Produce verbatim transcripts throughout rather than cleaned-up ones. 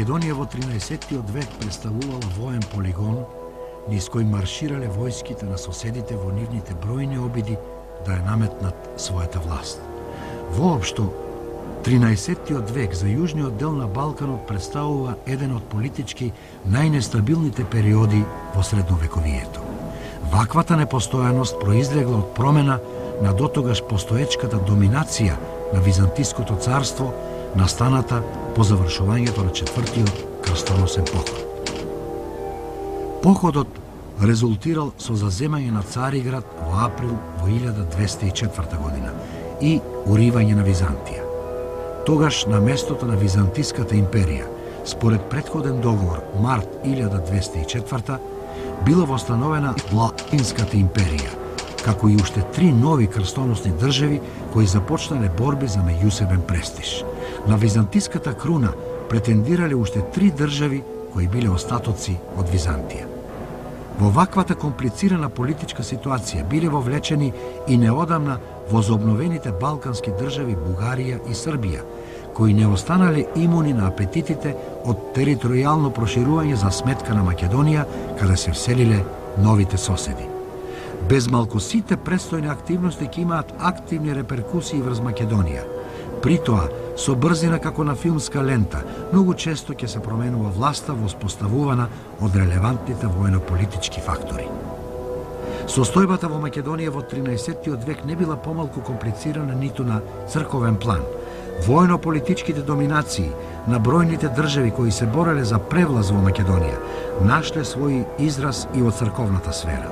Македонија во тринаесеттиот век представувала воен полигон низ кој марширале војските на соседите во нивните бројни обиди да ја наметнат својата власт. Воопшто, тринаесеттиот век за јужниот дел на Балканот представува еден од политички најнестабилните периоди во средновековието. Ваквата непостојаност произлегла од промена на дотогаш постоечката доминација на Византиското царство, настаната по завршувањето на четвртиот крстоносен поход. Походот резултирал со заземање на Цариград во април во илјада двесте и четврта година и уривање на Византија. Тогаш на местото на Византиската империја, според претходен договор март илјада двесте и четврта, била востановена Латинската империја, како и уште три нови крстоносни држави кои започнале борби за меѓусебен престиж. На Византиската круна претендирале уште три држави кои биле остатоци од Византија. Во ваквата комплицирана политичка ситуација биле вовлечени и неодамна возобновените балкански држави Бугарија и Србија, кои не останале имуни на апетитите од територијално проширување за сметка на Македонија, каде се вселиле новите соседи. Без малку сите предстојни активности ќе имаат активни реперкусии врз Македонија. При тоа, со брзина како на филмска лента, многу често ќе се променува власта воспоставувана од релевантните воено-политички фактори. Состојбата во Македонија во тринаесеттиот век не била помалку комплицирана ниту на црковен план. Воено-политичките доминации на бројните држави кои се бореле за превлаз во Македонија нашле свој израз и од црковната сфера.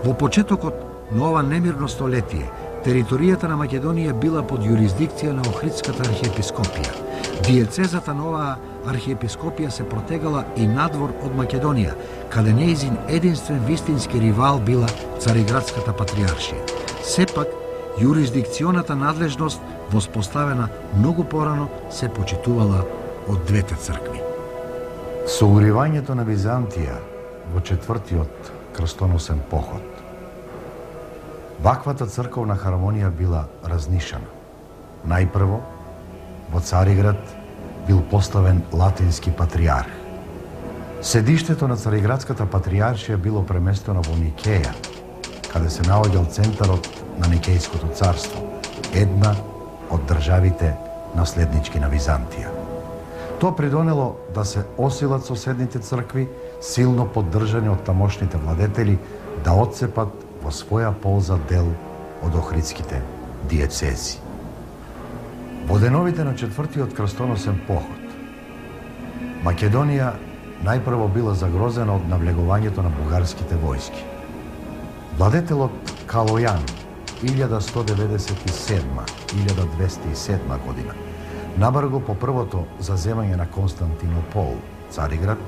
Во почетокот на ова немирно столетие, територијата на Македонија била под јурисдикција на Охридската архиепископија. Диецезата на оваа архиепископија се протегала и надвор од Македонија, каде нејзин единствен вистински ривал била Цариградската патриаршија. Сепак, јурисдикционата надлежност, воспоставена многу порано, се почитувала од двете цркви. Со уривањето на Византија во четвртиот крстоносен поход, ваквата црковна хармонија била разнишана. Најпрво, во Цариград бил поставен латински патриарх. Седиштето на Цариградската патриаршија било преместено во Никеја, каде се наоѓал центарот на Никејското царство, една од државите наследнички на Византија. Тоа придонело да се осилат соседните цркви, силно поддржани од тамошните владетели, да отцепат во своја полза дел од охридските диецези. Во деновите на четвртиот крстоносен поход, Македонија најпрво била загрозена од навлегувањето на бугарските војски. Владетелот Калојан, илјада сто деветдесет и седма до илјада двесте и седма година, набрго по првото заземање на Константинопол, Цариград,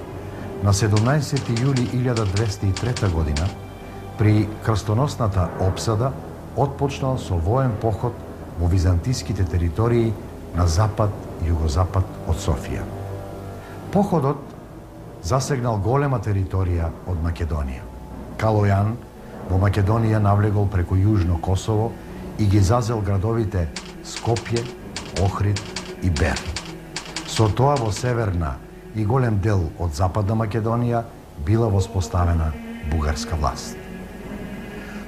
на седумнаесети јули илјада двесте и трета година, при крстоносната опсада, отпочнал со воен поход во византиските територии на запад и југозапад од Софија. Походот засегнал голема територија од Македонија. Калојан во Македонија навлегол преку Јужно Косово и ги зазел градовите Скопје, Охрид и Бер. Со тоа во северна и голем дел од западна Македонија била воспоставена бугарска власт.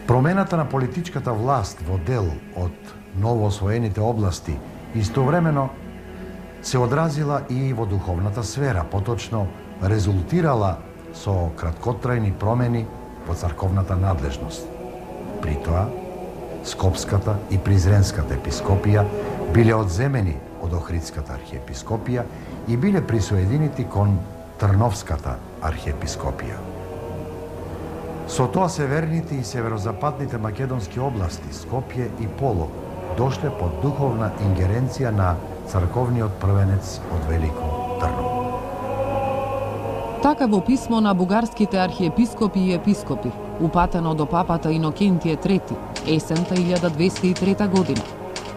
Промената на политичката власт во дел од новоосвоените области истовремено се одразила и во духовната сфера, поточно резултирала со краткотрајни промени во црковната надлежност. При тоа, Скопската и Призренската епископија биле одземени од Охридската архиепископија и биле присоединети кон Трновската архиепископија. Со тоа северните и северозападните македонски области, Скопје и Полог, дошле под духовна ингеренција на црковниот првенец од Велико Трново. Така во писмо на бугарските архиепископи и епископи, упатено до папата Инокентије трети, есента илјада двесте и трета година,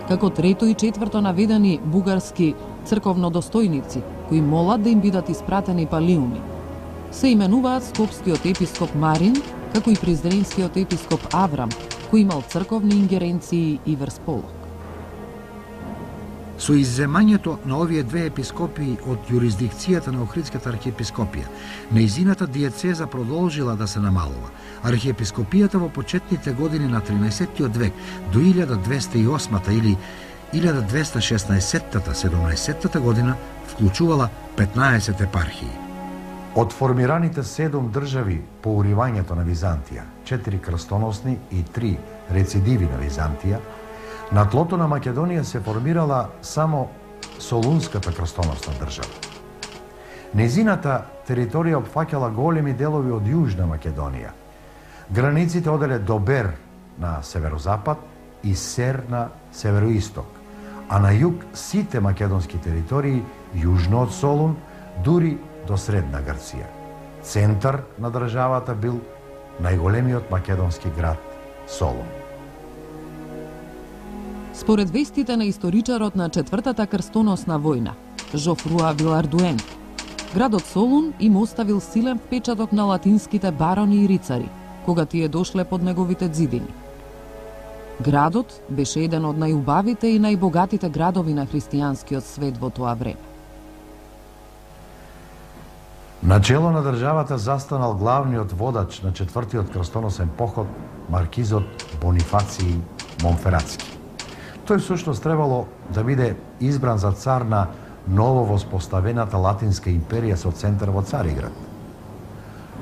како трето и четврто наведени бугарски црковнодостојници, кои молат да им бидат испратени палиуми. Се именуваат скопскиот епископ Марин, како и призренскиот епископ Аврам, кој имал црковни ингеренции и врз Полог. Со изземањето на овие две епископии од јурисдикцијата на Охридската архиепископија, нејзината диецеза продолжила да се намалува. Архиепископијата во почетните години на тринаесеттиот век до илјада двесте и осмата или илјада двесте шеснаесеттата седумнаесеттата година вклучувала петнаесет епархии. Од формираните седум држави по уривањето на Византија, четири крстоносни и три рецидиви на Византија, на тлото на Македонија се формирала само Солунската крстоносна држава. Незината територија опфаќала големи делови од Јужна Македонија. Границите оделе до Бер на северозапад и Сер на североисток, а на југ сите македонски територии јужно од Солун, дури до Средна Грција. Центар на државата бил најголемиот македонски град Солун. Според вестите на историчарот на Четвртата крстоносна војна, Жофруа Вилардуен, градот Солун им оставил силен впечаток на латинските барони и рицари, кога тие дошле под неговите ѕидини. Градот беше еден од најубавите и најбогатите градови на христијанскиот свет во тоа време. Начело на државата застанал главниот водач на Четвртиот крстоносен поход, маркизот Бонифаций Монфератски. Тој всушност требало да биде избран за цар на ново воспоставената Латинска империја со центар во Цариград.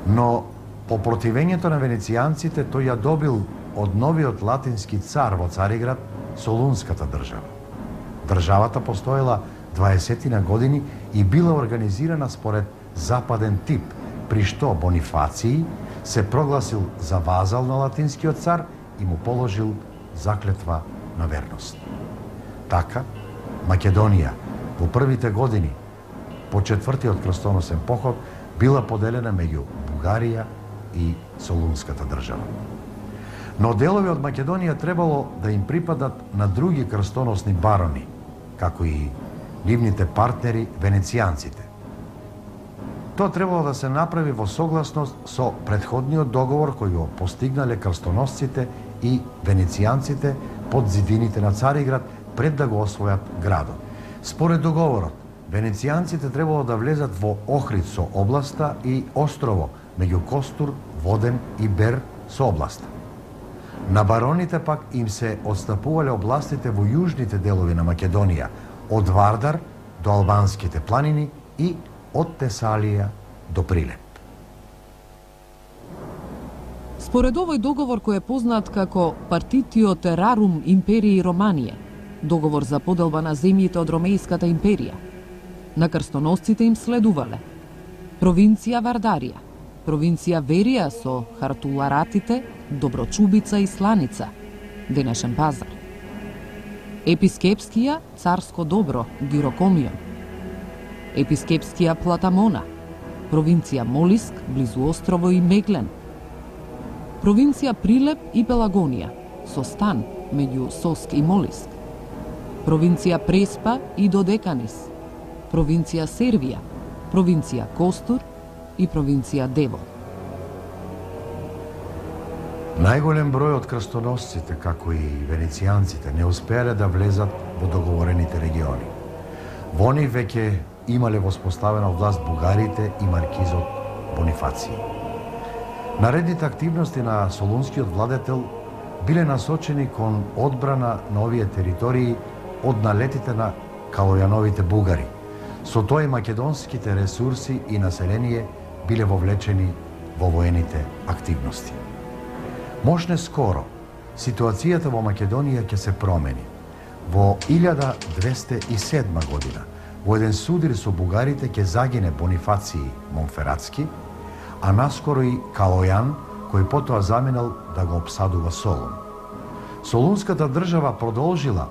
Но по противењето на венецијанците тој ја добил од новиот латински цар во Цариград Солунската држава. Државата постоела дваесет години и била организирана според западен тип, при што Бонифаций се прогласил за вазал на латинскиот цар и му положил заклетва на верност. Така, Македонија во првите години по Четвртиот крстоносен поход била поделена меѓу Бугарија и Солунската држава. Но делови од Македонија требало да им припадат на други крстоносни барони, како и нивните партнери венецијанците. Тоа требало да се направи во согласност со претходниот договор кој го постигнале крстоносците и венецијанците под зидините на Цариград пред да го освојат градот. Според договорот, венецијанците требало да влезат во Охрид со областа и острово меѓу Костур, Воден и Бер со областа. На бароните пак им се отстапувале областите во јужните делови на Македонија, од Вардар до Албанските планини и од Тесалија до Прилеп. Според овој договор кој е познат како Партитио Террарум Империи Романија, договор за поделба на земјите од Ромејската империја, на крстоносците им следувале провинција Вардарија, провинција Верија со Хартуларатите, Доброчубица и Сланица, денешен Пазар, епискепскија Царско Добро, Гирокомион, епискепскија Платамона, провинција Молиск, близу острово и Меглен, провинција Прилеп и Пелагонија, со стан меѓу Соск и Молиск, провинција Преспа и Додеканис, провинција Сервија, провинција Костур и провинција Девол. Најголем број од крстоносците, како и венецијанците, не успеале да влезат во договорените региони. Во нив веќе имале воспоставена власт бугарите и маркизот Бонифаций. Наредните активности на солунскиот владетел биле насочени кон одбрана на овие територии од налетите на калојановите бугари. Со тоа и македонските ресурси и население биле вовлечени во воените активности. Можне скоро, ситуацијата во Македонија ќе се промени. Во илјада двесте и седма година, во еден судир со бугарите ќе загине Бонифаций Монфератски, а наскоро и Калојан, кој потоа заминал да го обсадува Солун. Солунската држава продолжила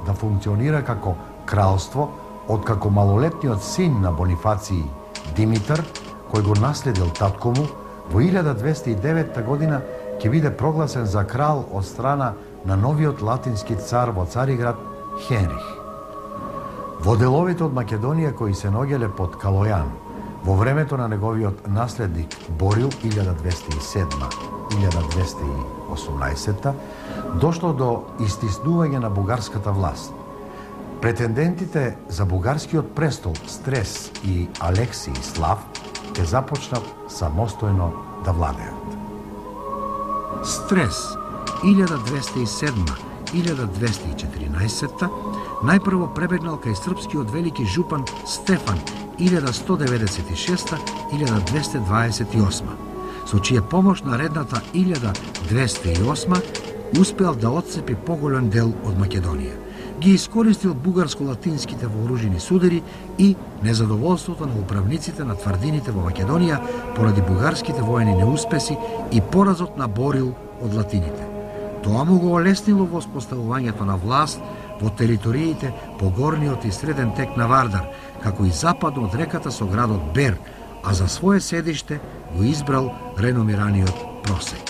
да функционира како кралство, откако малолетниот син на Бонифаций, Димитар, кој го наследил татко му, во илјада двесте и девета година ќе биде прогласен за крал од страна на новиот латински цар во Цариград Хенрих. Во деловите од Македонија кои се наоѓале под Калојан, во времето на неговиот наследник Борил илјада двесте и седма - илјада двесте и осумнаесетта, дошло до истиснување на бугарската власт. Претендентите за бугарскиот престол Стрес и Алексий Слав ќе започнат самостојно да владеат. Стрес илјада двесте и седма - илјада двесте и четиринаесетта најпрво пребегнал кај српскиот велики жупан Стефан илјада сто деветдесет и шеста - илјада двесте дваесет и осма, со чија помош наредната илјада двесте и осма успеал да отцепи поголем дел од Македонија. Ги искористил бугарско-латинските вооружени судери и незадоволството на управниците на тврдините во Македонија поради бугарските воени неуспеси и поразот на Борил од латините. Тоа му го олеснило во споставувањето на власт во териториите по горниот и среден тек на Вардар, како и западно од реката со градот Бер, а за свое седиште го избрал реномираниот Просек.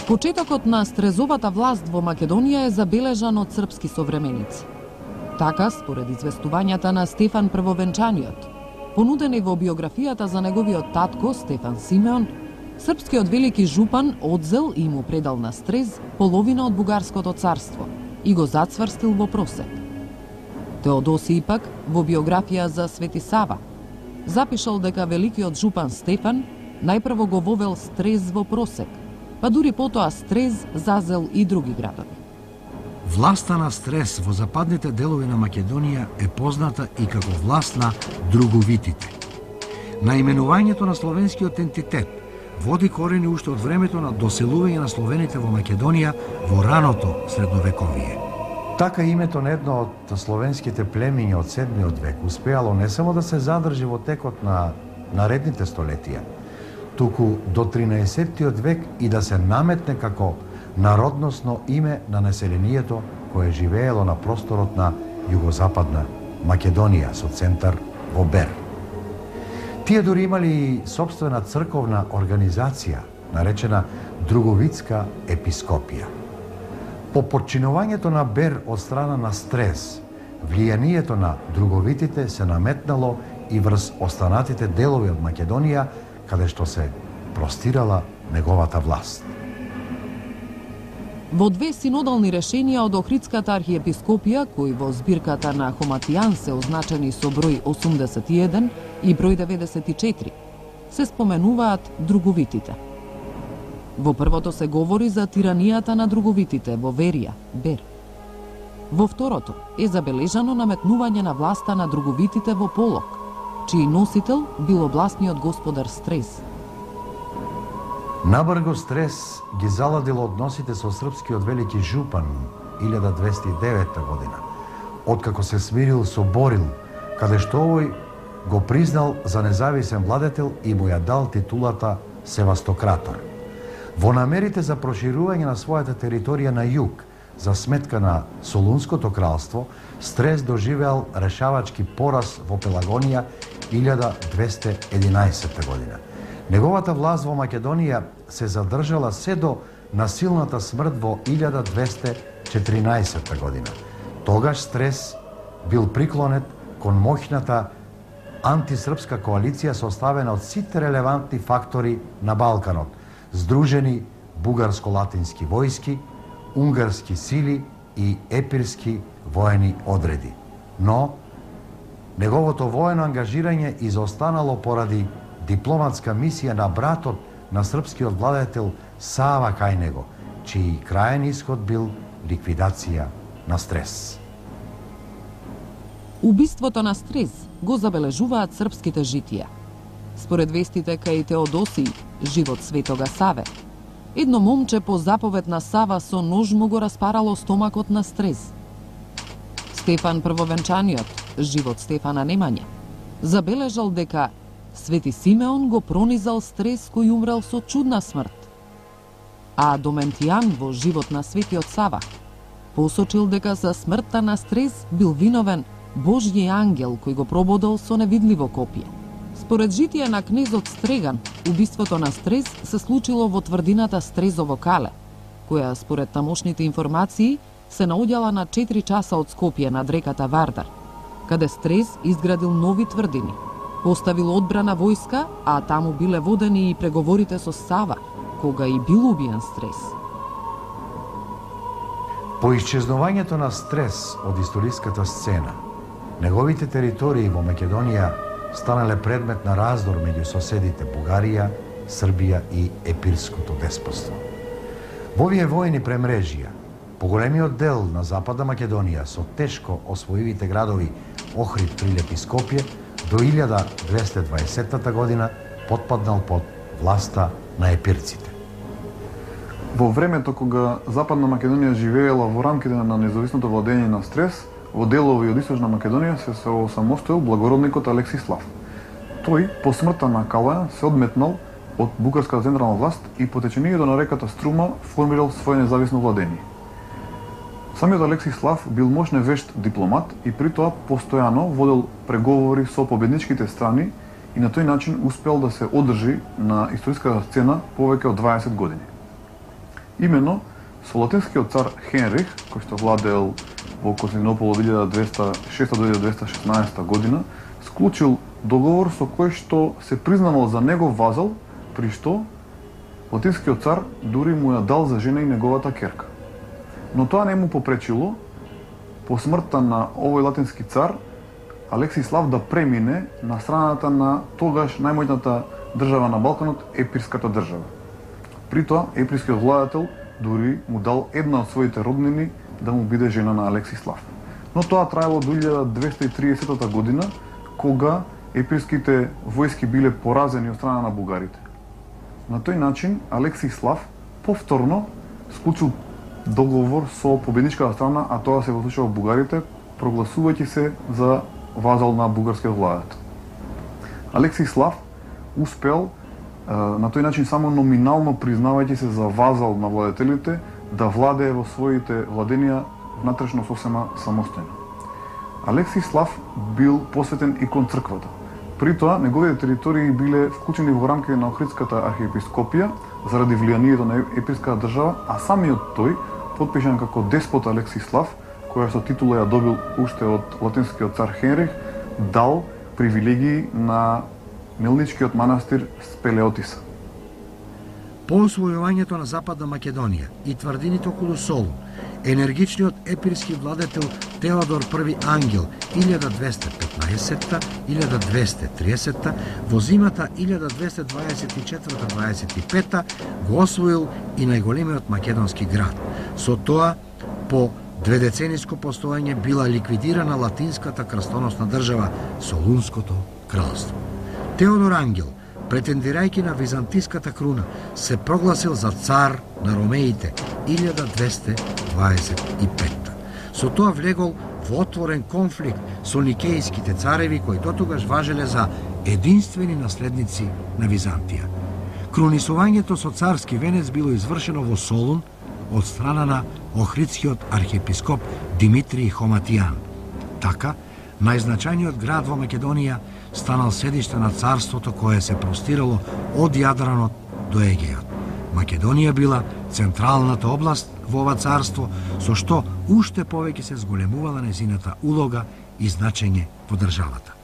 Почетокот на Стрезовата власт во Македонија е забележан од српски современици. Така, според известувањата на Стефан Првовенчаниот, понудени во биографијата за неговиот татко Стефан Симеон, српскиот велики жупан одзел и му предал на Стрез половина од бугарското царство и го зацврстил во Просек. Теодосиј пак во биографија за Свети Сава запишал дека великиот жупан Стефан најпрво го вовел Стрез во Просек, па дури потоа Стрез зазел и други градови. Власта на Стрес во западните делови на Македонија е позната и како власт на друговитите. Наименувањето на словенскиот ентитет води корени уште од времето на доселување на словените во Македонија во раното средновековие. Така името на едно од словенските племиња од седмиот век успеало не само да се задржи во текот на наредните столетија, туку до тринаесеттиот век и да се наметне како народносно име на населението кое живеело на просторот на југозападна Македонија со центар во Бер. Тие дури имали и сопствена црковна организација, наречена Друговитска епископија. По подчинувањето на Бер од страна на Стрес, влијанието на друговитите се наметнало и врз останатите делови од Македонија, каде што се простирала неговата власт. Во две синодални решенија од Охридската архиепископија, кои во збирката на Хоматијан се означени со број осумдесет и еден и број деветдесет и четири, се споменуваат друговитите. Во првото се говори за тиранијата на друговитите во Верија, Бер. Во второто е забележано наметнување на власта на друговитите во Полок, чиј носител бил областниот господар Стрес. Набрго Стрес ги заладил односите со српскиот велики жупан илјада двесте и девета година, откако се смирил со Борил, каде што овој го признал за независен владетел и му ја дал титулата Севастократор. Во намерите за проширување на својата територија на југ, за сметка на Солунското кралство, Стрес доживеал решавачки пораз во Пелагонија илјада двесте единаесетта година. Неговата власт во Македонија се задржала се до насилната смрт во илјада двесте четиринаесетта година. Тогаш Стрес бил приклонет кон моќната антисрпска коалиција составена од сите релевантни фактори на Балканот, здружени бугарско-латински војски, унгарски сили и епирски воени одреди. Но неговото воено ангажирање изостанало поради дипломатска мисија на братот на српскиот владетел Сава кај него, чиј крајен исход бил ликвидација на Стрес. Убиството на Стрес го забележуваат српските житија. Според вестите кај Теодосиј, живот Светога Саве, едно момче по заповед на Сава со нож му го распарало стомакот на Стрес. Стефан Првовенчаниот, живот Стефана Немање, забележал дека Свети Симеон го пронизал Стрес кој умрел со чудна смрт. А Доментијан во живот на Светиот Сава посочил дека за смртта на Стрес бил виновен Божји ангел кој го прободел со невидливо копие. Според житие на кнезот Стреган, убиството на Стрес се случило во тврдината Стрезово кале, која според тамошните информации се наоѓала на четири часа од Скопје над реката Вардар, каде Стрес изградил нови тврдини, поставил одбрана војска, а таму биле водени и преговорите со Сава, кога и бил убиен Стрес. По исчезнувањето на Стрес од историската сцена, неговите територии во Македонија станале предмет на раздор меѓу соседите Бугарија, Србија и Епирското деспотство. Во овие војни премрежија, поголемиот дел на Западна Македонија со тешко освоивите градови Охрид, Прилеп и Скопје до илјада двесте и дваесетта година потпаднал под власта на епирците. Во времето кога Западна Македонија живеела во рамките на независното владење на Стрес, во делови од Источна Македонија се се осамостоил благородникот Алексислав. Тој, по смртта на Калојан, се одметнал од бугарската централна власт и по течењето на реката Струма формирал своје независно владење. Самиот Алексислав бил мощен вешт дипломат и при тоа постојано водел преговори со победничките страни и на тој начин успел да се одржи на историската сцена повеќе од дваесет години. Именно со латинскиот цар Хенрих, кој што владеел во Константинопол од илјада двеста и шеста до илјада двеста и шеснаесетта година, склучил договор со кој што се признавал за негов вазал, при што латинскиот цар дури му ја дал за жена и неговата керка. Но тоа не му попречило, по смртта на овој латински цар, Алексислав да премине на страната на тогаш најмоćната држава на Балканот, Епирската држава. При тоа, епирскиот владател дури му дал една од своите роднини да му биде жена на Алексислав. Но тоа траело до илјада двеста и триесетта година, кога епирските војски биле поразени од страна на бугарите. На тој начин Алексислав повторно склучил договор со победничката страна, а тоа се во случајот бугарите, прогласувајќи се за вазал на бугарскиот владател. Алексислав успел на тој начин само номинално признавајќи се за вазал на владетелите да владее во своите владенија внатрешно сосема самостојно. Алексислав бил посветен и кон црквата. При тоа, неговите територии биле вклучени во рамките на Охридската архиепископија заради влијанието на епирската држава, а самиот тој, потпишан како деспот Алексислав, која со титула ја добил уште од латинскиот цар Хенрих, дал привилегии на мелничкиот манастир Спелеотиса. По освојувањето на Западна Македонија и тврдините околу Солун, енергичниот епирски владетел Теодор Први Ангел илјада двесте и петнаесетта - илјада двесте и триесетта во зимата илјада двесте дваесет и четврта - дваесет и петта го освоил и најголемиот македонски град. Со тоа, по дведецениско постојање била ликвидирана латинската крстоносна држава Солунското кралство. Теодор Ангел, претендирајќи на византиската круна, се прогласил за цар на ромеите илјада двесте дваесет и петта. Со тоа влегол во отворен конфликт со никејските цареви кои дотогаш важеле за единствени наследници на Византија. Крунисувањето со царски венец било извршено во Солун од страна на Охридскиот архиепископ Димитрий Хоматијан. Така, најзначајниот град во Македонија станал седиште на царството кое се простирало од Јадранот до Егејот. Македонија била централната област во ова царство, со што уште повеќе се зголемувала незината улога и значење во државата.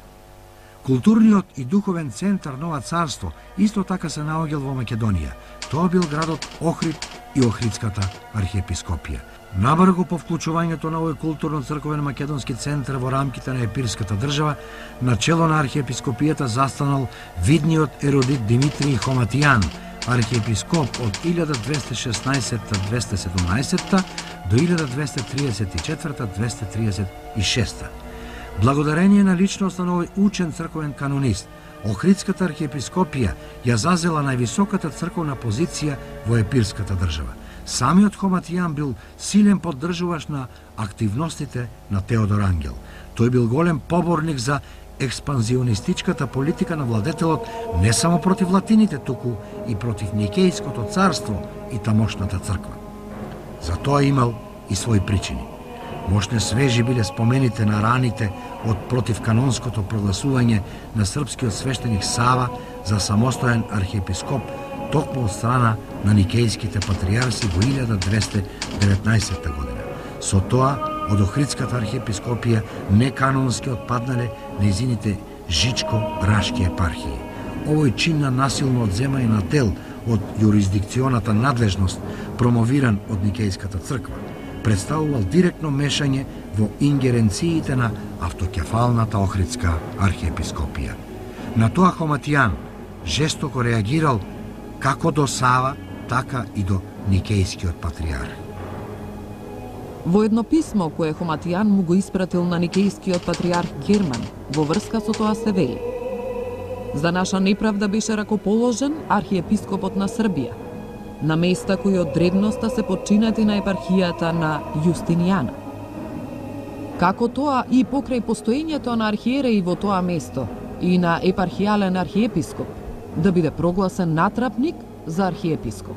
Културниот и духовен центар на ова царство исто така се наоѓал во Македонија. Тоа бил градот Охрид и Охридската архиепископија. Набрзо по вклучувањето на овој културно-црковен македонски центар во рамките на епирската држава, на чело на архиепископијата застанал видниот еродит Димитрий Хоматијан, архиепископ од илјада двесте и шеснаесетта - двесте и седумнаесетта до илјада двесте и триесет и четврта - двесте и триесет и шеста. Благодарение на личноста на овој учен црковен канонист, Охридската архиепископија ја зазела највисоката црковна позиција во епирската држава. Самиот Хоматијан бил силен поддржуваш на активностите на Теодор Ангел. Тој бил голем поборник за експанзионистичката политика на владетелот не само против латините, туку и против Никејското царство и тамошната црква. За тоа имал и своји причини. Мошне свежи биле спомените на раните од противканонското прогласување на српскиот свештеник Сава за самостоен архиепископ токму од страна на никејските патријарси во илјада двесте и деветнаесетта година. Со тоа, од Охридската архиепископија неканонски отпаднале нејзините Жичко-Рашки епархии. Овој чин на насилно одземање на дел од јурисдикционата надлежност, промовиран од Никејската црква, представувал директно мешање во ингеренциите на автокефалната Охридска архиепископија. На тоа Хоматијан жестоко реагирал како до Сава, така и до Никејскиот патриарх. Во едно писмо кое Хоматијан му го испратил на Никејскиот патриарх Герман, во врска со тоа се вели: за наша неправда беше ракоположен архиепископот на Србија, на места кои од древноста се подчинати на епархијата на Јустинијана. Како тоа и покрај постоењето на архиереи во тоа место и на епархијален архиепископ, да биде прогласен натрапник за архиепископ.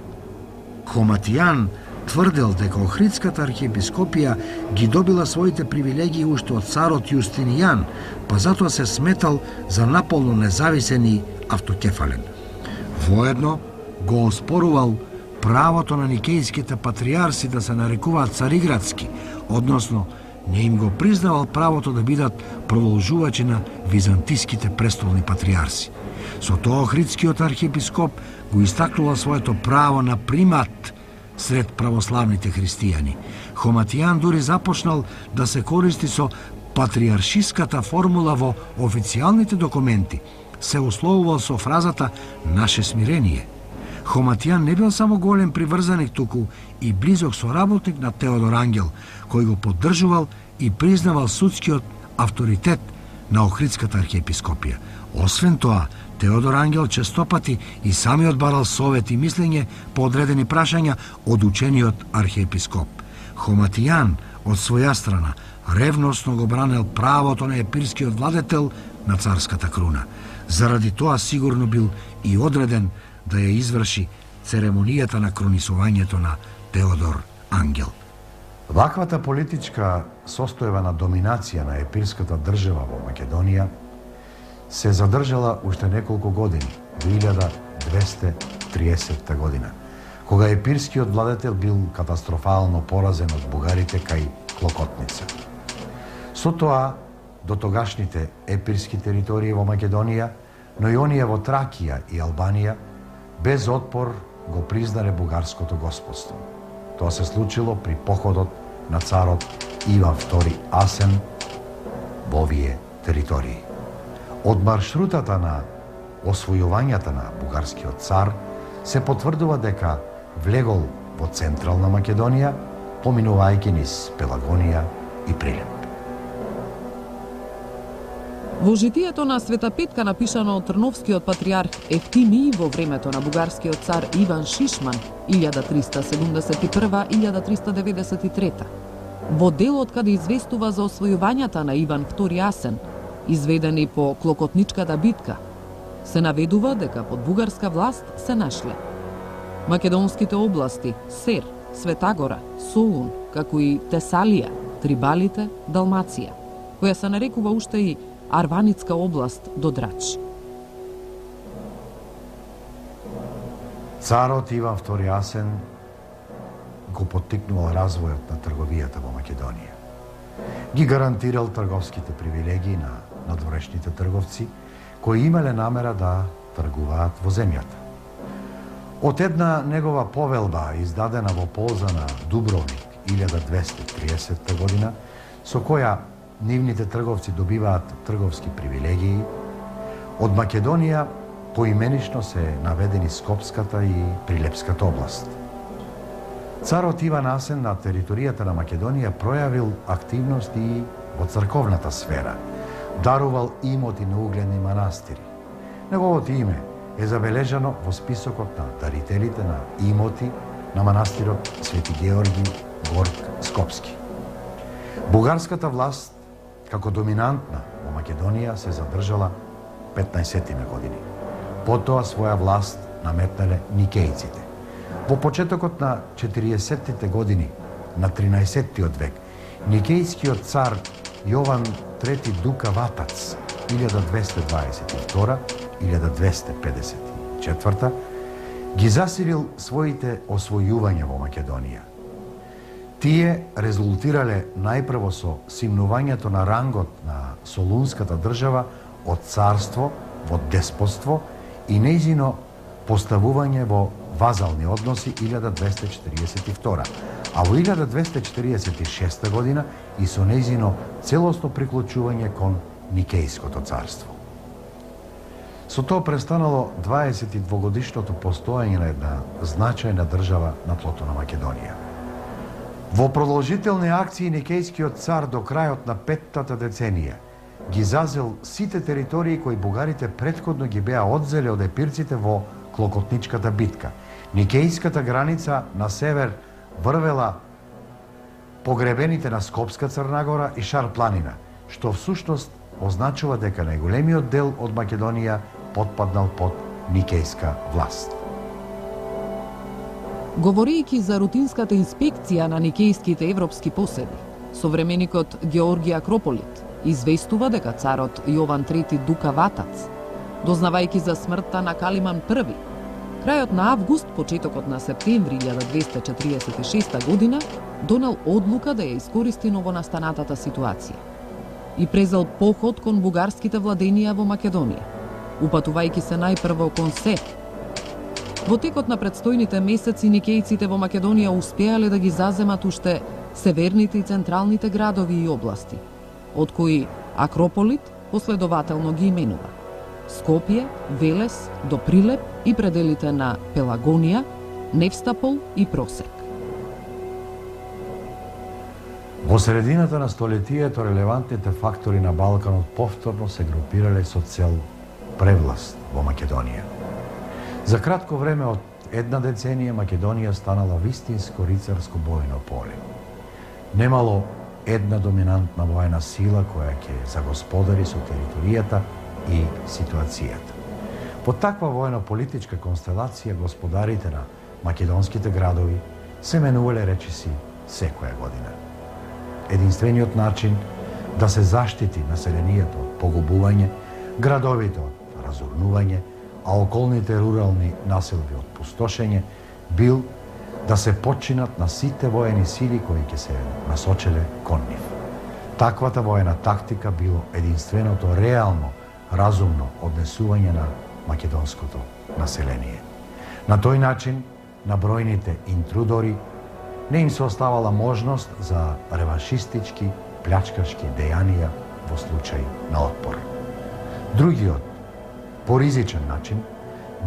Хоматијан тврдел дека Охридската архиепископија ги добила своите привилегии уште од царот Јустинијан, па затоа се сметал за наполно независен и автокефален. Воедно го оспорувал правото на никејските патриарси да се нарекуваат цариградски, односно не им го признавал правото да бидат продолжувачи на византиските престолни патриарси. Со тоа Охридскиот архиепископ го истакнувал своето право на примат сред православните христијани. Хоматијан дури започнал да се користи со патриаршиската формула во официјалните документи, се условувал со фразата «наше смирение». Хоматијан не бил само голем приврзаник, туку и близок соработник на Теодор Ангел, кој го поддржувал и признавал судскиот авторитет на Охридската архиепископија. Освен тоа, Теодор Ангел честопати и самиот барал совет и мислење по одредени прашања од учениот архиепископ. Хоматијан, од своја страна, ревносно го бранел правото на епирскиот владетел на царската круна. Заради тоа сигурно бил и одреден да ја изврши церемонијата на кронисувањето на Теодор Ангел. Ваквата политичка состојба на доминација на епирската држава во Македонија се задржала уште неколку години, до илјада двесте триесетта година, кога епирскиот владетел бил катастрофално поразен од бугарите кај Клокотница. Со тоа, до тогашните епирски територии во Македонија, но и оние во Тракија и Албанија, без отпор го признале бугарското господство. Тоа се случило при походот на царот Иван втори Асен во овие територии. Од маршрутата на освојувањата на бугарскиот цар се потврдува дека влегол во Централна Македонија, поминувајќи низ Пелагонија и Прилеп. Во житието на Света Петка, напишано од Трновскиот патриарх Ефтимий во времето на бугарскиот цар Иван Шишман, илјада триста седумдесет и прва - илјада триста деветдесет и трета, во делот каде известува за освојувањата на Иван втори Асен, изведени по Клокотничката битка, се наведува дека под бугарска власт се нашле македонските области Сер, Светагора, Солун, како и Тесалија, Трибалите, Далмација, која се нарекува уште и Арваницка област до Драч. Царот Иван втори Асен го поттикнувал развојот на трговијата во Македонија. Ги гарантирал трговските привилегии на надворешните трговци, кои имале намера да тргуваат во земјата. Од една негова повелба, издадена во полза на Дубровник илјада двесте триесетта година, со која нивните трговци добиваат трговски привилегии, од Македонија поименично се наведени Скопската и Прилепската област. Царот Иван Асен на територијата на Македонија пројавил активности и во црковната сфера, дарувал имоти на угледни манастири. Неговото име е забележано во списокот на дарителите на имоти на манастирот Свети Георги Горг Скопски. Бугарската власт како доминантна во Македонија се задржала петнаесеттина години. Потоа своја власт наметнале никејците. Во почетокот на четириесеттите години на тринаесеттиот век, никејскиот цар Јован трети Дука Ватац, илјада двесте дваесет и втора - илјада двесте педесет и четврта, ги засилил своите освојувања во Македонија. Тие резултирале најпрво со симнувањето на рангот на Солунската држава од царство во деспотство и нејзино поставување во вазални односи илјада двесте четириесет и втора, а во илјада двесте четириесет и шеста година и со нејзино целосно приклучување кон Никејското царство. Со тоа престанало дваесет и двогодишното постоење на една значајна држава на тлото на Македонија. Во продолжителни акции Никејскиот цар до крајот на петтата деценија ги зазел сите територии кои бугарите претходно ги беа одзеле од епирците во Клокотничката битка. Никејската граница на север врвела погребените на Скопска Црнагора и Шар планина, што всушност означува дека најголемиот дел од Македонија потпаднал под Никејска власт. Говорејќи за рутинската инспекција на никејските европски поседи, современикот Георги Акрополит известува дека царот Јован трети Дука Ватац, дознавајќи за смртта на Калиман први, крајот на август, почетокот на септември илјада двесте четириесет и шеста година, донел одлука да ја искористи новонастанатата ситуација и презел поход кон бугарските владенија во Македонија, упатувајќи се најпрво кон Сет. Во текот на предстојните месеци никејците во Македонија успеале да ги заземат уште северните и централните градови и области, од кои Акрополит последователно ги именува: Скопје, Велес, до Прилеп и пределите на Пелагонија, Невстапол и Просек. Во средината на столетието релевантните фактори на Балканот повторно се групирале со цел превласт во Македонија. За кратко време од една деценија Македонија станала вистинско рицарско бојно поле. Немало една доминантна воена сила која ќе загосподари со територијата и ситуацијата. По таква воено-политичка констелација господарите на македонските градови се менувале речиси секоја година. Единствениот начин да се заштити населението од погубување, градовите од разорнување, а околните рурални населби од пустошење, бил да се починат на сите воени сили кои ќе се насочеле кон нив. Таквата воена тактика било единственото реално, разумно однесување на македонското население. На тој начин, на бројните интрудори не им се оставала можност за реваншистички, плячкашки дејанија во случај на отпор. Другиот, поризичен начин,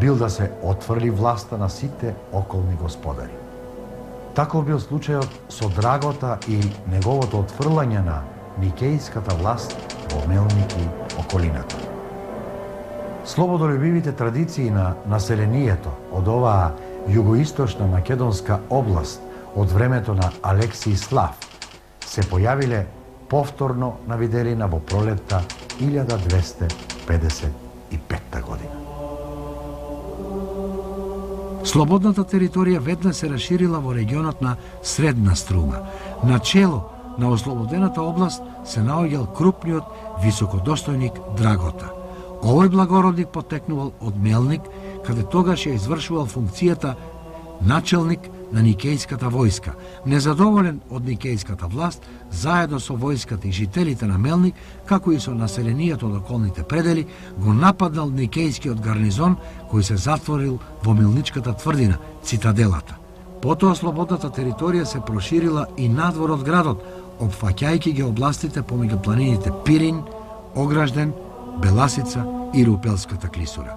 бил да се отврли власта на сите околни господари. Таков бил случајот со Драгота и неговото отфрлање на Никејската власт во Мелник и околината. Слободолюбивите традиции на населението од оваа југоисточна македонска област од времето на Алексиј Слав се појавиле повторно на виделина во пролетта илјада двесте педесет и петта година. Слободната територија веднаш се расширила во регионот на Средна Струма. Начело на ослободената област се наоѓал крупниот високодостојник Драгота. Овој благородник потекнувал од Мелник, каде тогаш ја извршувал функцијата начелник на Никејската војска. Незадоволен од Никејската власт, заедно со војската и жителите на Мелник, како и со населението од околните предели, го нападнал Никејскиот гарнизон кој се затворил во Мелничката тврдина, цитаделата. Потоа слободната територија се проширила и надвор од градот, опфаќајќи ги областите помеѓу планините Пирин, Огражден, Беласица и Рупелската клисура.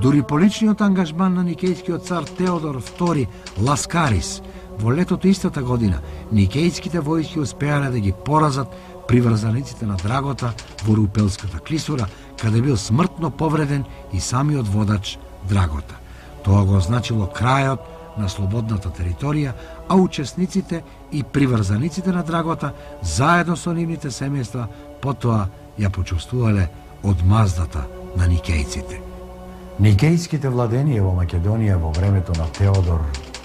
Дури по личниот ангажман на никејскиот цар Теодор втори Ласкарис, во летото истата година, никејските војски успеале да ги поразат приврзаниците на Драгота во Рупелската клисура, каде бил смртно повреден и самиот водач Драгота. Тоа го означило крајот на слободната територија, а учесниците и приврзаниците на Драгота, заедно со нивните семејства, потоа ја почувствувале одмаздата на никејците. Никејските владенија во Македонија во времето на Теодор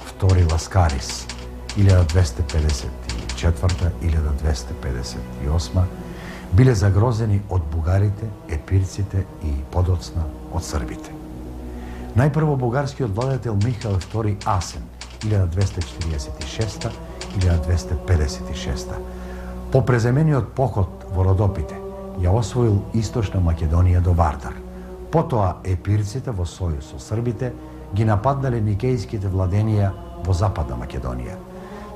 втори Ласкарис илјада двесте педесет и четврта - илјада двесте педесет и осма биле загрозени од бугарите, епирците и подоцна од србите. Најпрво бугарскиот владетел Михаил втори Асен илјада двесте четириесет и шеста - илјада двесте педесет и шеста по преземениот поход во Родопите ја освоил источна Македонија до Вардар. Потоа епирците во сојуз со србите ги нападнале никејските владенија во Западна Македонија.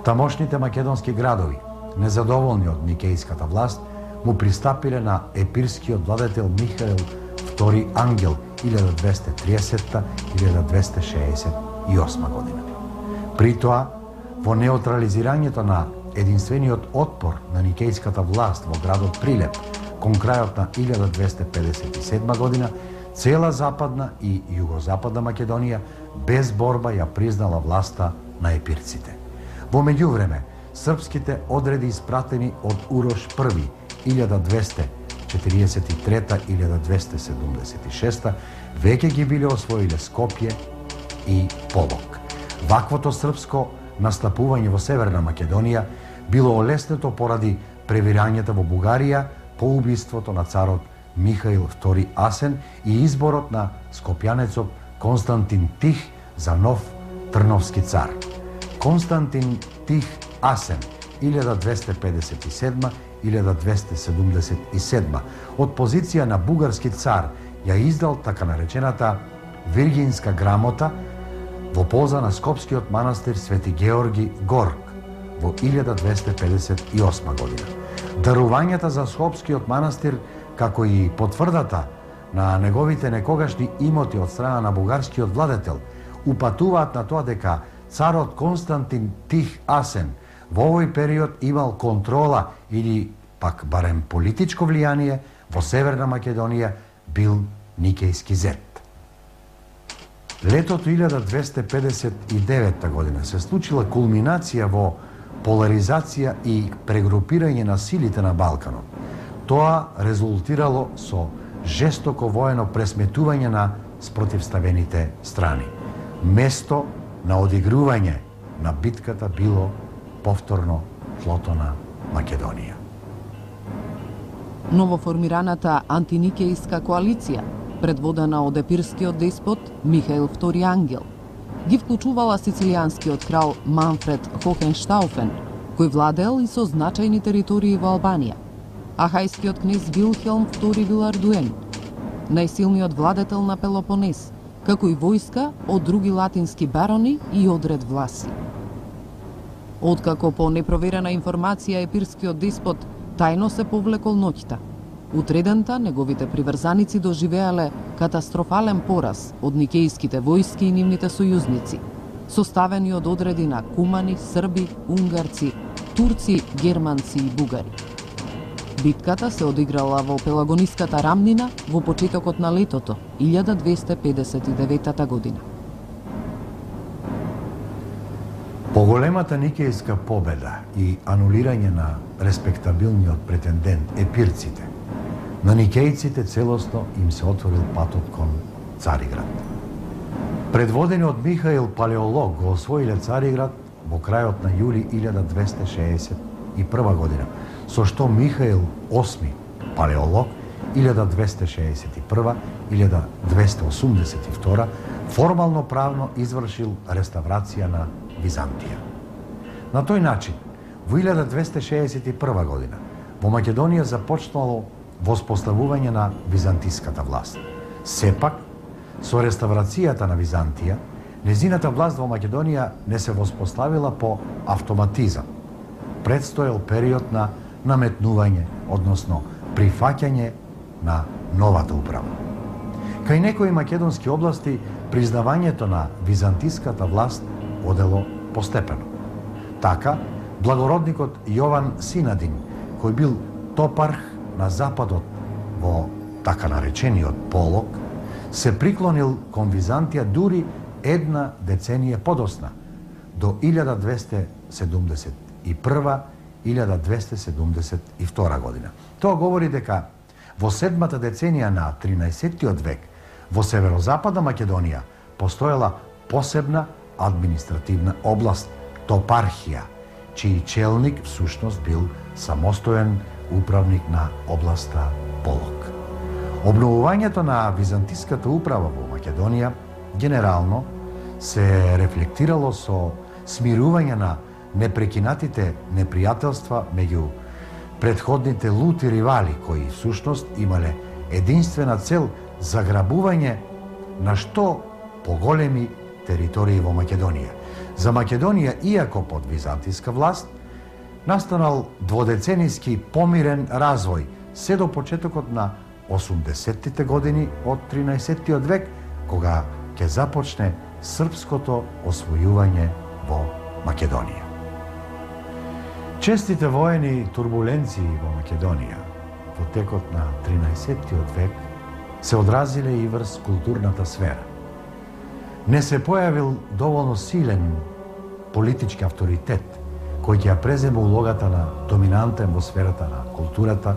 Тамошните македонски градови, незадоволни од никејската власт, му пристапиле на епирскиот владетел Михаил втори Ангел илјада двесте и тридесетта - илјада двесте шеесет и осма година. При тоа, во неутрализирањето на единствениот отпор на никејската власт во градот Прилеп кон крајот на илјада двесте педесет и седма година, цела Западна и Југозападна Македонија без борба ја признала власта на епирците. Во меѓувреме, српските одреди испратени од Урош први илјада двесте четириесет и трета - илјада двесте седумдесет и шеста веќе ги биле освоиле Скопје и Полок. Ваквото српско настапување во Северна Македонија било олеснето поради превирањата во Бугарија по убиството на царот Михаил втори Асен и изборот на скопјанецот Константин Тих за нов трновски цар. Константин Тих Асен илјада двесте педесет и седма - илјада двесте седумдесет и седма од позиција на бугарски цар ја издал така наречената Виргинска грамота во полза на скопскиот манастир Свети Георги Горк во илјада двесте педесет и осма година. Дарувањата за скопскиот манастир, како и потврдата на неговите некогашни имоти од страна на бугарскиот владетел, упатуваат на тоа дека царот Константин Тих Асен во овој период имал контрола или пак барем политичко влијание во Северна Македонија, бил никејски зет. Летото илјада двесте педесет и девета година се случила кулминација во поларизација и прегрупирање на силите на Балканот. Тоа резултирало со жестоко воено пресметување на спротивставените страни. Место на одигрување на битката било повторно флото на Македонија. Новоформираната антиникејска коалиција, предводена од епирскиот деспот Михаил втори Ангел, ги вклучувала сицилијанскиот крал Манфред Хохенштауфен, кој владеел и со значајни територии во Албанија, а хајскиот кнез Вилхелм втори Вилардуен, најсилниот владетел на Пелопонез, како и војска од други латински барони и одред власи. Откако по непроверена информација епирскиот деспот тајно се повлекол ноќта, утредента неговите приврзаници доживеале катастрофален пораз од никејските војски и нивните сојузници, составени од одреди на кумани, срби, унгарци, турци, германци и бугари. Битката се одиграла во Пелагониската рамнина во почетокот на летото илјада двесте педесет и девета година. Поголемата никејска победа и анулирање на респектабилниот претендент епирците, на никејците целосно им се отворил патот кон Цариград. Предводени од Михаил Палеолог го освоиле Цариград во крајот на јули илјада двесте шеесет и прва година, со што Михаил осми Палеолог илјада двесте шеесет и прва - илјада двесте осумдесет и втора формално правно извршил реставрација на Византија. На тој начин, во илјада двесте шеесет и прва година, во Македонија започнало воспоставување на византиската власт. Сепак, со реставрацијата на Византија, незината власт во Македонија не се воспоставила по автоматизам. Предстоел период на наметнување, односно прифаќање на новата управа. Кај некои македонски области, признавањето на византиската власт одело постепено. Така, благородникот Јован Синадин, кој бил топарх на западот во така наречениот Полок, се приклонил кон Византија дури една деценија подосна, до илјада двесте седумдесет и прва - илјада двесте седумдесет и втора година. Тоа говори дека во седмата деценија на тринаесеттиот век во северозападна Македонија постоела посебна административна област, топархија, чиј челник всушност бил самостоен управник на областа Полок. Обновувањето на византиската управа во Македонија генерално се рефлектирало со смирување на непрекинатите непријателства меѓу претходните лути ривали кои всушност имале единствена цел заграбување на што поголеми територии во Македонија. За Македонија, иако под византиска власт, настанал дводеценијски помирен развој се до почетокот на осумдесеттите години од тринаесеттиот век, кога ќе започне српското освојување во Македонија. Честите воени турбуленции во Македонија во текот на тринаесеттиот век се одразиле и врз културната сфера. Не се појавил доволно силен политички авторитет кој ќе ја преземе улогата на доминантен во сферата на културата,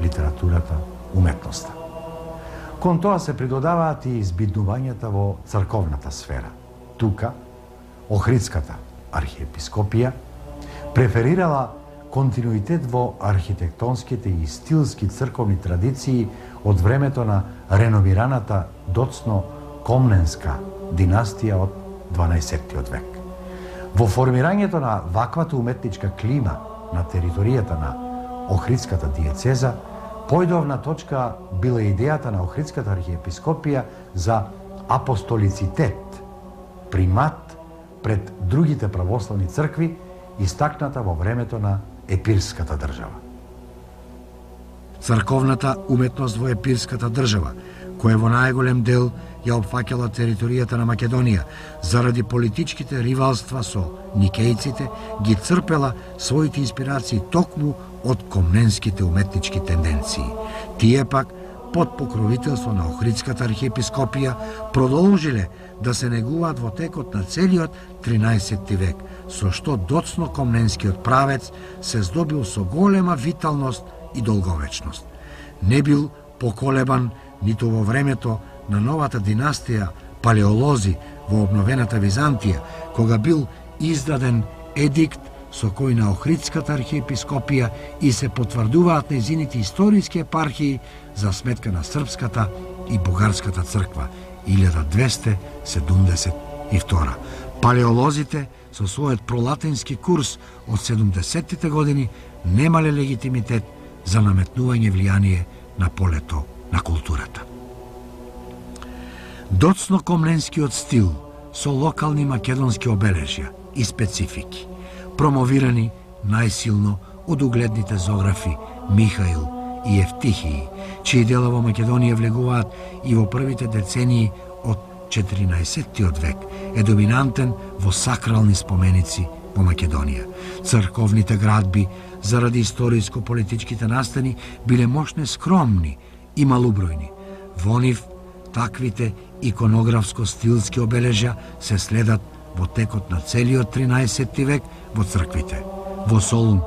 литературата, уметноста. Кон тоа се придодаваат и избиднувањата во црковната сфера. Тука, Охридската архиепископија преферирала континуитет во архитектонските и стилски црковни традиции од времето на реновираната доцно Комненска династија од дванаесеттиот век. Во формирањето на ваквата уметничка клима на територијата на Охридската диецеза, појдовна точка била идејата на Охридската архиепископија за апостолицитет, примат пред другите православни цркви, истакната во времето на епирската држава. Црковната уметност во епирската држава, која во најголем дел ја опфаќала територијата на Македонија, заради политичките ривалства со никејците, ги црпела своите инспирации токму од комненските уметнички тенденции. Тие пак, под покровителство на Охридската архиепископија, продолжиле да се негуваат во текот на целиот тринаесетти век, со што доцно комненскиот правец се здобил со голема виталност и долговечност. Не бил поколебан ниту во времето на новата династија палеолози во обновената Византија, кога бил издаден едикт со кој на Охридската архиепископија и се потврдуваат нејзините историски епархии за сметка на српската и бугарската црква илјада двесте седумдесет и втора. Палеолозите со својот пролатински курс од седумдесеттите години немале легитимитет за наметнување влијание на полето на културата. Доцно комненскиот стил со локални македонски обележја и специфики, промовирани најсилно од угледните зографи Михаил и Евтихии, чии дела во Македонија влегуваат и во првите децении од четиринаесеттиот век, е доминантен во сакрални споменици во Македонија. Црковните градби, заради историско-политичките настани, биле мощне скромни и малубројни. Во нив, таквите иконографско-стилски обележја се следат во текот на целиот тринаесетти век во црквите. Во Солун,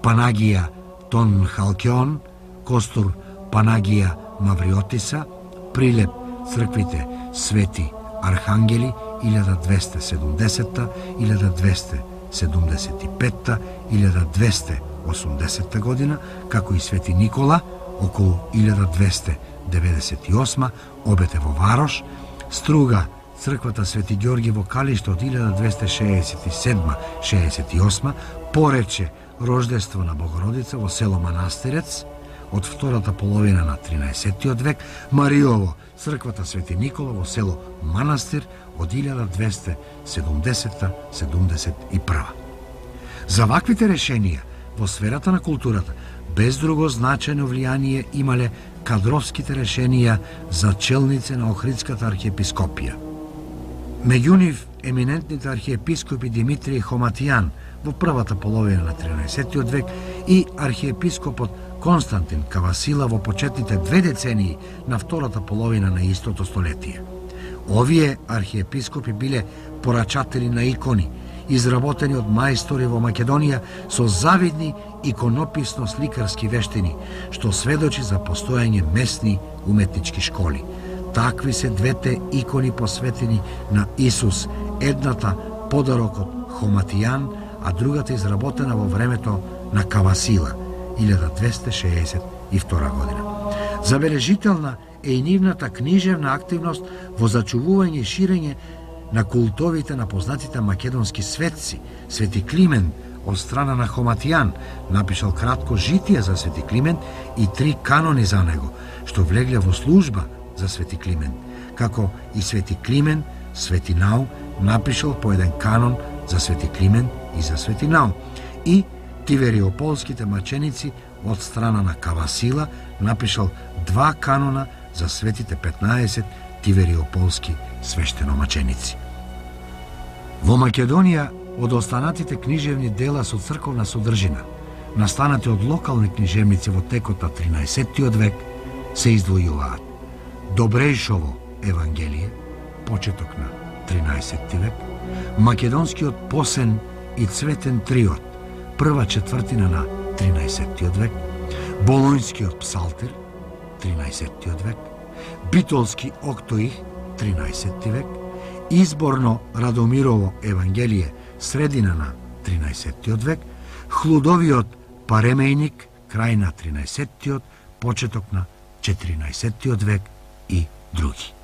Панагија Тон Халкеон, Костур Панагија Мавриотиса, Прилеп црквите Свети Архангели илјада двесте седумдесетта, илјада двесте седумдесет и петта, илјада двесте осумдесетта година, како и Свети Никола околу илјада двесте деветдесет и осма, обете во Варош, Струга црквата Свети Ѓорги во Калиште од илјада двесте шеесет и седма - шеесет и осма, Порече Рождество на Богородица во село Манастирец од втората половина на тринаесеттиот век, Мариово црквата Свети Никола во село Манастир од илјада двесте седумдесетта - седумдесет и прва. За ваквите решенија во сферата на културата без друго значајно влијание имале кадровските решенија за челници на Охридската архиепископија. Меѓу нив еминентните архиепископи Димитрije Хоматијан во првата половина на тринаесеттиот век и архиепископот Константин Кавасила во почетните две децении на втората половина на истото столетие. Овие архиепископи биле порачатели на икони, изработени од мајстори во Македонија со завидни иконописно-сликарски вештини, што сведочи за постојање месни уметнички школи. Такви се двете икони посветени на Исус, едната подарок од Хоматијан, а другата изработена во времето на Кавасила, илјада двесте шеесет и втора година. Забележителна е и нивната книжевна активност во зачувување и ширење на култовите на познатите македонски светци. Свети Климент од страна на Хоматијан напишал кратко житие за Свети Климент и три канони за него, што влегле во служба за Свети Климент, како и Свети Климент Свети Нау напишал по еден канон за Свети Климент и за Свети Нау, и Тивериополските маченици од страна на Кавасила напишал два канона за светите петнаесет Тивериополски свештеномаченици. Во Македонија, од останатите книжевни дела со црковна содржина, настанати од локални книжевници во текот на тринаесеттиот век, се издвојуваат Добрејшово Евангелие, почеток на тринаесетти век, Македонскиот посен и цветен триот, прва четвртина на тринаесеттиот век, Болонјскиот псалтир, тринаесеттиот век, Битолски октоих, тринаесетти век, Изборно Радомирово Евангелие, средина на тринаесеттиот век, Хлудовиот Паремејник, крај на тринаесеттиот, почеток на четиринаесеттиот век и други.